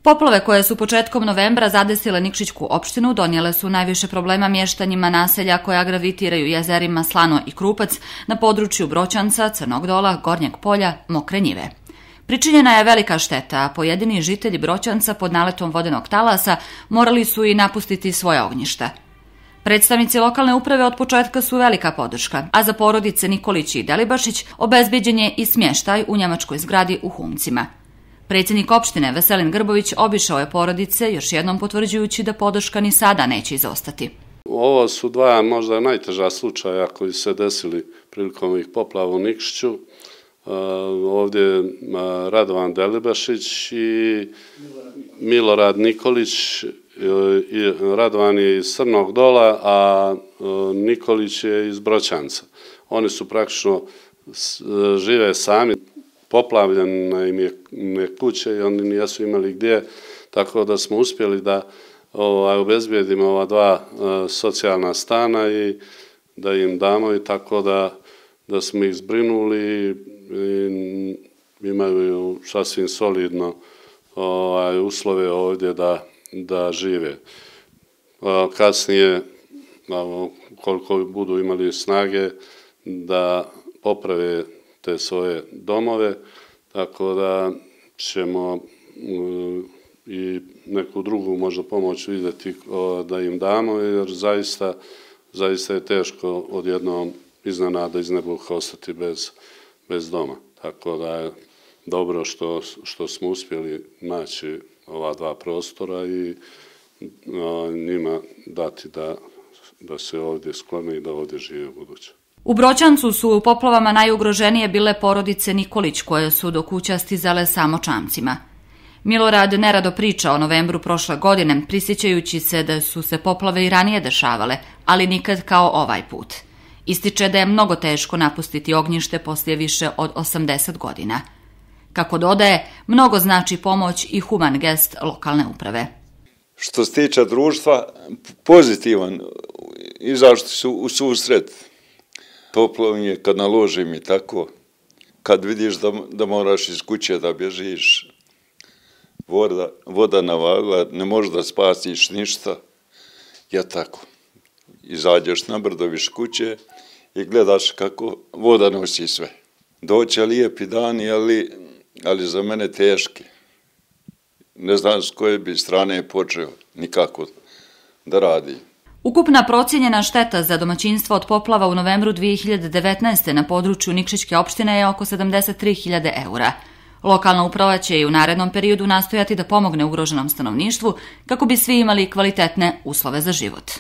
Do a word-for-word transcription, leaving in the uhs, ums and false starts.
Poplave koje su početkom novembra zadesile Nikšićku opštinu donijele su najviše problema mještanjima naselja koja gravitiraju jezerima Slano i Krupac na području Broćanca, Crnog Dola, Gornjeg Polja, Mokre Njive. Pričinjena je velika šteta, a pojedini žitelji Broćanca pod naletom vodenog talasa morali su i napustiti svoja ognjišta. Predstavnici lokalne uprave od početka su velika podrška, a za porodice Nikolić i Delibašić obezbeđen je i smještaj u njemačkoj zgradi u Humcima. Predsjednik opštine Veselin Grbović obišao je porodice, još jednom potvrđujući da podrška ni sada neće izostati. Ovo su dva možda najteža slučaja koji se desili prilikom ovih poplava u Nikšiću. Ovdje je Radovan Delibašić i Milorad Nikolić. Radovan je iz Crnog Dola, a Nikolić je iz Broćanca. Oni su praktično žive sami, poplavljene im je kuće i oni nisu imali gdje, tako da smo uspjeli da obezbijedimo ova dva socijalna stana i da im damo, i tako da, da smo ih zbrinuli i imaju sasvim solidno ovaj, uslove ovdje da, da žive. Kasnije, koliko budu imali snage, da poprave te svoje domove, tako da ćemo i neku drugu možda pomoć vidjeti da im damo, jer zaista, zaista je teško odjednom iznenada iz nebuha ostati bez, bez doma. Tako da je dobro što, što smo uspjeli naći ova dva prostora i njima dati da, da se ovdje sklone i da ovdje žive u buduće. U Broćancu su u poplavama najugroženije bile porodice Nikolić, koje su do kuća stizale samo čamcima. Milorad nerado priča o novembru prošle godine, prisjećajući se da su se poplave i ranije dešavale, ali nikad kao ovaj put. Ističe da je mnogo teško napustiti ognjište poslije više od osamdeset godina. Kako dodaje, mnogo znači pomoć i human gest lokalne uprave. Što se tiče društva, pozitivan, izašli su u susret. Poplavljenje kad naložim i tako, kad vidiš da, da moraš iz kuće da bježiš, voda, voda navalila, ne možeš da spasiš ništa, ja tako. Izađeš na brdo viš kuće i gledaš kako voda nosi sve. Doće lijepi dani, ali, ali za mene teški. Ne znam s koje bi strane počeo nikako da radi. Ukupna procijenjena šteta za domaćinstvo od poplava u novembru dvije hiljade devetnaeste. na području Nikšićke opštine je oko sedamdeset tri hiljade eura. Lokalna uprava će i u narednom periodu nastojati da pomogne ugroženom stanovništvu kako bi svi imali kvalitetne uslove za život.